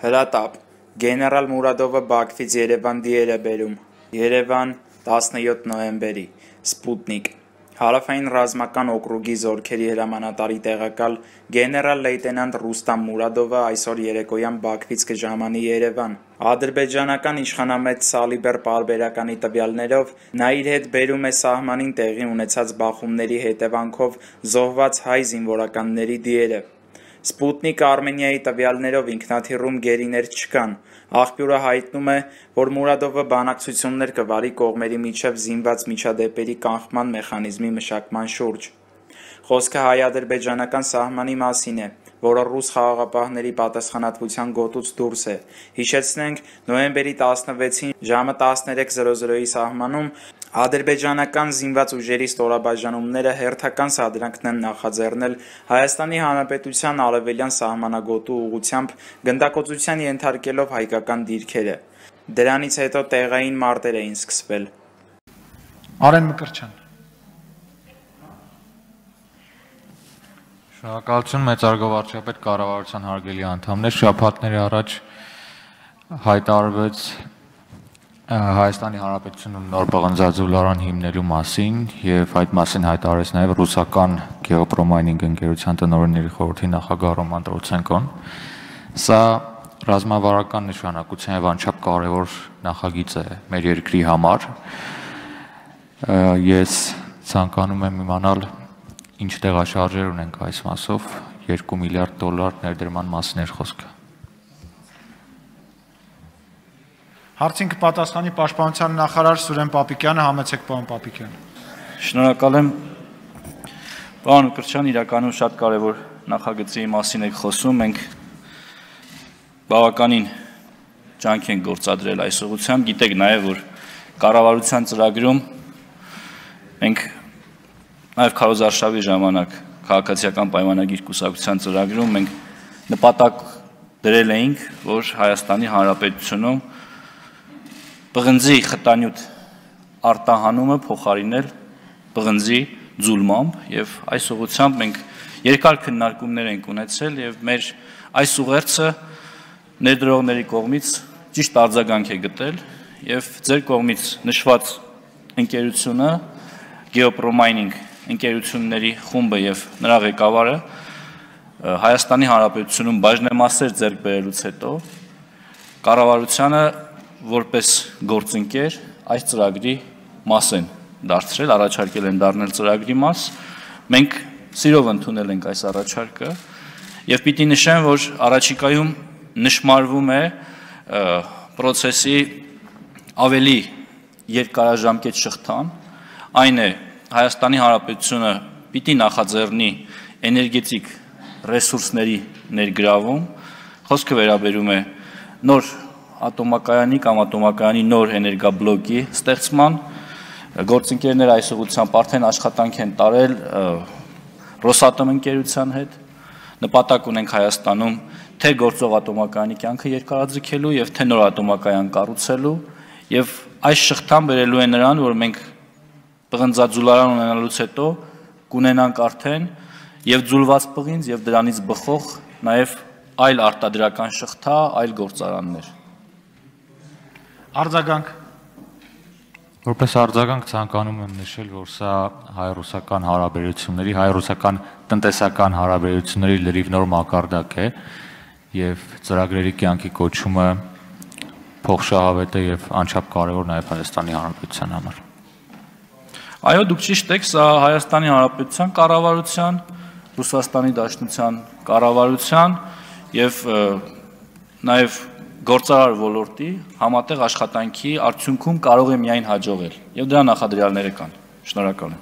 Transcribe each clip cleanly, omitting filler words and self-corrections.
Հրատապ. Գեներալ Մուրադովը Բաքվից Երևան դիեր է բերում։ Երևան 17 նոյեմբերի։ Սպուտնիկ. Հարավային ռազմական օկրուգի զորքերի հրամանատարի տեղակալ գեներալ լեյտենանտ Ռուստամ Մուրադովը այսօր երեկոյան Բաքվից կժամանի Երևան։ Ադրբեջանական իշխանամետ Սալիբեր պարբերականի տվյալներով նա իր հետ բերում է սահմանին տեղի ունեցած բախումների հետևանքով զոհված հայ զինվորականների դիերը։ Սպուտնիկը Արմենիայի տվյալներով ինքնաթիռում գերիներ չկան։ Աղբյուրը հայտնում է, որ Մուրադովը բանակցություններ կվարի կողմերի միջև զինված միջադեպերի կանխման մեխանիզմի մշակման շուրջ։ Խոսքը հայ-ադրբեջանական սահմանի մասին է, որը ռուս խաղաղապահների պատասխանատվության գոտուց դուրս է։ Հիշեցնենք, նոյեմբերի 16-ին ժամը 13:00-ի սահմանում ադրբեջանական զինված ուժերի ստորաբաժանումները հերթական սադրանքն են նախաձեռնել Հայաստանի Հանրապետության արևելյան սահմանագոտու ուղղությամբ գնդակոծության ենթարկելով հայկական դիրքերը։ Դրանից հետո տեղային մարտեր էին սկսվել։ Արեն Մկրտչյան։ Շնորհակալություն մեծարգո վարչապետ, կառավարության հարգելի անդամներ, շաբաթների առաջ հայտարարվեց Հայաստանի Հանրապետությունում նոր պղնձաձուլարան հիմնելու մասին եւ այդ մասին հայտարարեց նաեւ ռուսական գեոպրոմայնինգ ընկերության տնօրենների խորհրդի նախագահ Ռոման Տրոցենկոն։ Սա ռազմավարական նշանակության եւ անչափ կարեւոր նախագիծ է մեր երկրի համար։ Ես ցանկանում եմ իմանալ ինչ տեղաշարժեր ունենք այս մասով, $2 միլիարդ ներդրման մասին էր խոսքը։ Հարցին կպատասխանի Պաշտպանության նախարար Սուրեն Պապիկյանը, համեցեք պարոն Պապիկյան։ Շնորհակալ եմ։ Պարոն Մկրտչյան, իրականում շատ կարևոր նախագծի մասին եք խոսում, մենք բավականին ջանք ենք գործադրել այս ուղղությամբ, գիտեք նաև, որ կառավարության ծրագրում մենք նաև քարոզարշավի ժամանակ քաղաքացիական պայմանագիր կուսակցության ծրագրում մենք նպատակ դրել էինք, որ Հայաստանի Հանրապետությունում պղնձի խտանյութ արտահանումը փոխարինել պղնձի ձուլմամբ եւ այս ուղղությամբ մենք երկար քննարկումներ ենք ունեցել եւ մեր այս ուղերձը ներդրողների կողմից ճիշտ արձագանք է գտել եւ ձեր կողմից նշված ընկերությունը Geopromaining ընկերությունների խումբը եւ նրա ղեկավարը Հայաստանի Հանրապետությունում բաժնեմասեր ձեռք բերելուց հետո կառավարությանը որպես գործընկեր այս ծրագրի մաս են դարձրել, առաջարկել են դառնել ծրագրի մաս։ Մենք սիրով ընդունել ենք այս առաջարկը եւ պիտի նշեմ, որ առաջիկայում նշмарվում է process-ի ավելի երկարաժամկետ շղթան, այն է Հայաստանի Հանրապետությունը պիտի նախաձեռնի էներգետիկ ռեսուրսների ներգրավում, խոսքը վերաբերում է նոր ատոմակայանի կամ ատոմակայանի նոր էներգաբլոկի ստեղծման, գործընկերները այս ուղղությամբ արդեն աշխատանք են տարել Ռոսատոմ ընկերության հետ, նպատակ ունենք Հայաստանում թե գործող ատոմակայանի կյանքը երկարաձգելու եւ թե նոր ատոմակայան կառուցելու եւ այս շղթան բերելու է նրան, որ մենք պղնձաձուլարան ունենալուց հետո կունենանք արդեն եւ ձուլված պղինձ եւ դրանից բխող նաեւ այլ արտադրական շղթա, այլ գործարաններ։ Արձագանք։ Որպես արձագանք ցանկանում եմ նշել, որ սա հայ-ռուսական հարաբերությունների, հայ-ռուսական տնտեսական հարաբերությունների լրիվ նոր մակարդակ է եւ ծրագրերի կյանքի կոչումը փոխշահավետ է եւ անչափ կարեւոր նաեւ Հայաստանի Հանրապետության համար։ Այո, դուք ճիշտ եք, սա Հայաստանի Հանրապետության կառավարության, Ռուսաստանի Դաշնության կառավարության եւ նաեւ գործարար ոլորտի համատեղ աշխատանքի արդյունքում կարող է միայն հաջողել եւ դրա նախադրյալները կան։ Շնորհակալ եմ։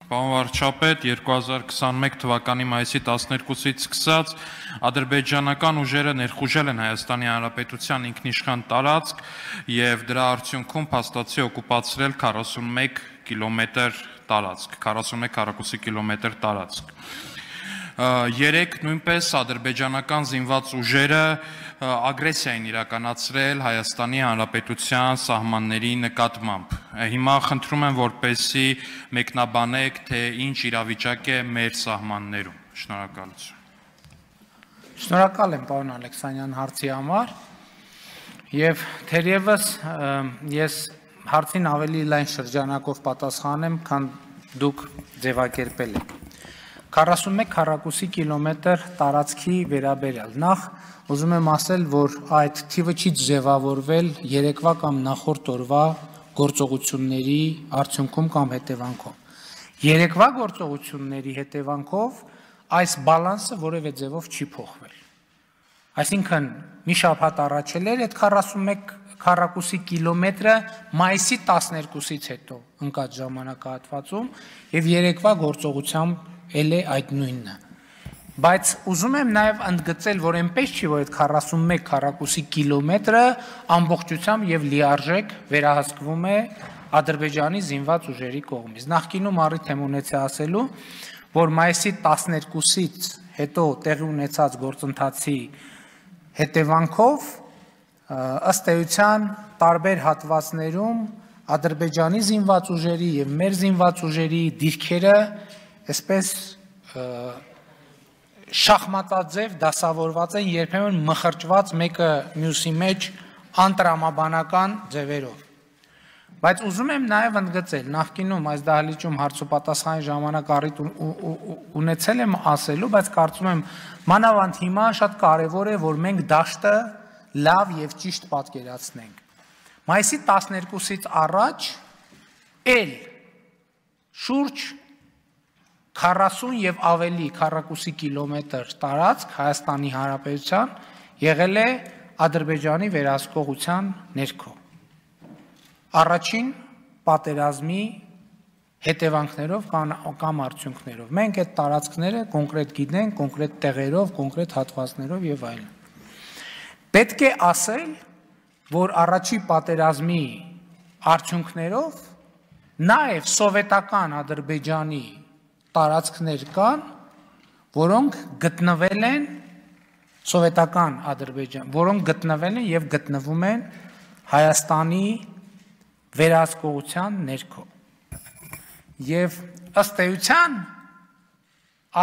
Պարոն վարչապետ, 2021 թվականի մայիսի 12-ից սկսած ադրբեջանական ուժերը ներխուժել են Հայաստանի Հանրապետության ինքնիշխան տարածք եւ դրա արդյունքում փաստացի օկուպացրել 41 կիլոմետր տարածք, 41 քառակուսի կիլոմետր տարածք։ Երեք նույնպես ադրբեջանական զինված ուժերը ագրեսիա են իրականացրել Հայաստանի Հանրապետության սահմանների նկատմամբ։ Հիմա խնդրում եմ, որպեսզի մեկնաբանեք, թե ինչ իրավիճակ է մեր սահմաններում։ Շնորհակալություն։ Շնորհակալ եմ պարոն Ալեքսանյան հարցի համար եւ թերևս ես հարցին ավելի լայն շրջանակով պատասխանեմ, քան դուք ձևակերպել եք։ 41 քառակուսի կիլոմետր տարածքի վերաբերյալ նախ ուզում եմ ասել, որ այդ թիվը չի ձևավորվել երեկվա կամ նախորդ օրվա գործողությունների արդյունքում կամ հետևանքով։ Երեկվա գործողությունների հետևանքով այս բալանսը որևէ ձևով չի փոխվել։ Այսինքն մի շաբաթ առաջ էր այդ 41 քառակուսի կիլոմետրը մայիսի 12-ից հետո ընկած ժամանակահատվածում եւ երեկվա գործողությամբ էլ է այդ նույնը։ Բայց ուզում եմ նաեւ ընդգծել, որ այնպես չի, որ այդ 41 քառակուսի կիլոմետրը ամբողջությամբ եւ լիարժեք վերահսկվում է Ադրբեջանի զինված ուժերի կողմից։ Նախկինում առիթ եմ ունեցել ասելու, որ մայիսի 12-ից հետո տեղի ունեցած գործընթացի հետևանքով ըստ էության տարբեր հատվածներում Ադրբեջանի զինված ուժերի եւ մեր զինված ուժերի դիրքերը այսպես շախմատաձև դասավորված են, երբեմն մխրճված մեկը մյուսի մեջ անտրամաբանական ձևերով։ Բայց ուզում եմ նաև ընդգծել, նախկինում այս դահլիճում հարցոպատասխանի ժամանակ առիթ ունեցել եմ ասելու, բայց կարծում եմ մանավանդ հիմա շատ կարևոր է, որ մենք դաշտը լավ եւ ճիշտ պատկերացնենք։ Մայիսի 12-ից առաջ էլ շուրջ 40 եւ ավելի քառակուսի կիլոմետր տարածք Հայաստանի Հանրապետության եղել է Ադրբեջանի վերահսկողության ներքո։ Առաջին պատերազմի հետևանքներով կամ արդյունքներով։ Մենք այդ տարածքները կոնկրետ գիտենք, կոնկրետ տեղերով, կոնկրետ հատվածներով եւ այլն։ Պետք է ասել, որ առաջի պատերազմի արդյունքներով նաեւ սովետական Ադրբեջանի տարածքներ կան, որոնք գտնվել են սովետական Ադրբեջան, որոնք գտնվել են եւ գտնվում են Հայաստանի վերահսկողության ներքո։ Եվ ըստ էության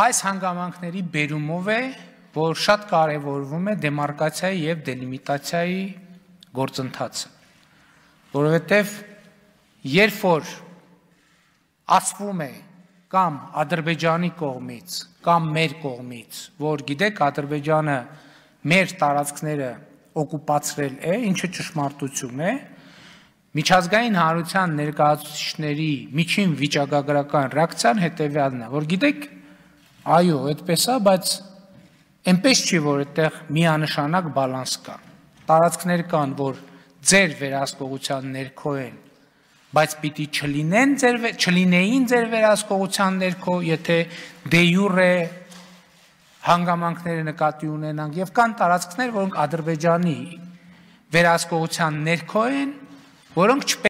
այս հանգամանքների բերումով է, որ շատ կարևորվում է դեմարկացիայի եւ դելիմիտացիայի գործընթացը, որովհետեւ երբ որ ասվում է կամ Ադրբեջանի կողմից, կամ մեր կողմից, որ գիտեք Ադրբեջանը մեր տարածքները օկուպացրել է, ինչը ճշմարտություն է, միջազգային հանրության ներկայացուցիչների միջին վիճակագրական ռեակցիան հետևյալն է, որ գիտեք, այո, այդպես է, բայց այնպես չի, որ այդտեղ միանշանակ բալանս կա։ Տարածքներ կան, որ ձեր վերահսկողության ներքո են, բայց պիտի չլինեին ձեր վերահսկողության ներքո, եթե դե յուրե հանգամանքները նկատի ունենանք, եւ կան տարածքներ, որոնք Ադրբեջանի վերահսկողության ներքո են, որոնք